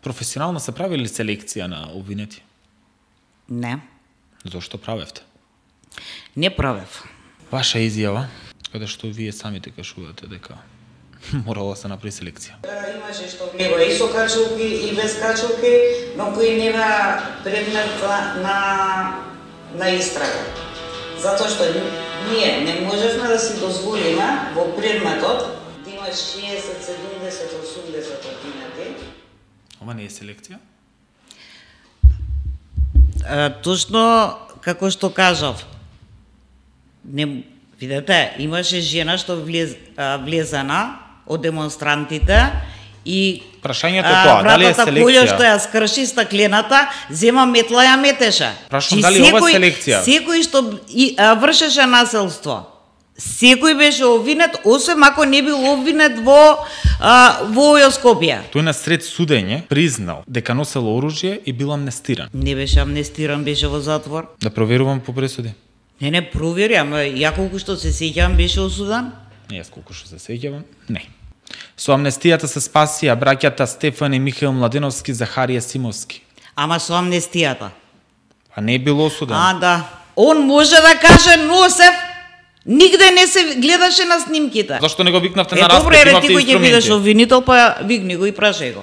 Професионално се правили селекција на обвинети? Не, Зошто правевте? не правев. Ваша изјава, каде што вие самите кажувате дека морало да се направи селекција. Имаше што влева и со качулки и без качулки, но кои нема предмет на истрага. Затоа што ние не можевме да си дозволиме во предметот да има 60, 70, 80 обвинети. Ова не е селекција? Точно како што кажав. Не, видете, имаше жена што влезена од демонстрантите и Прашањето е тоа, дали е вратата која што селекција? ја скрши стаклената, зема метла ја метеше. Прашам дали ова е селекција? Секој што вршеше насилство, секој беше обвинет, освен ако не бил обвинет во овој Скопје. Тој на сред судење признал дека носел оружје и бил амнестиран. Не беше амнестиран, беше во затвор. Да проверувам по пресуди. Не провери, ама ја колку што се сеќавам беше осудан. Не, јас колку што се сеќавам, не. Со амнестијата се спасија браќата Стефан и Михаил Младеновски, Захарија Симовски. Ама со амнестијата. А не е бил осуден. Да. Он може да каже носев, нигде не се гледаше на снимките. Зашто не го викнавте на Добро, распит, ти имавте кој ќе бидеш инструменти? обвинител, па викни го и прашај го.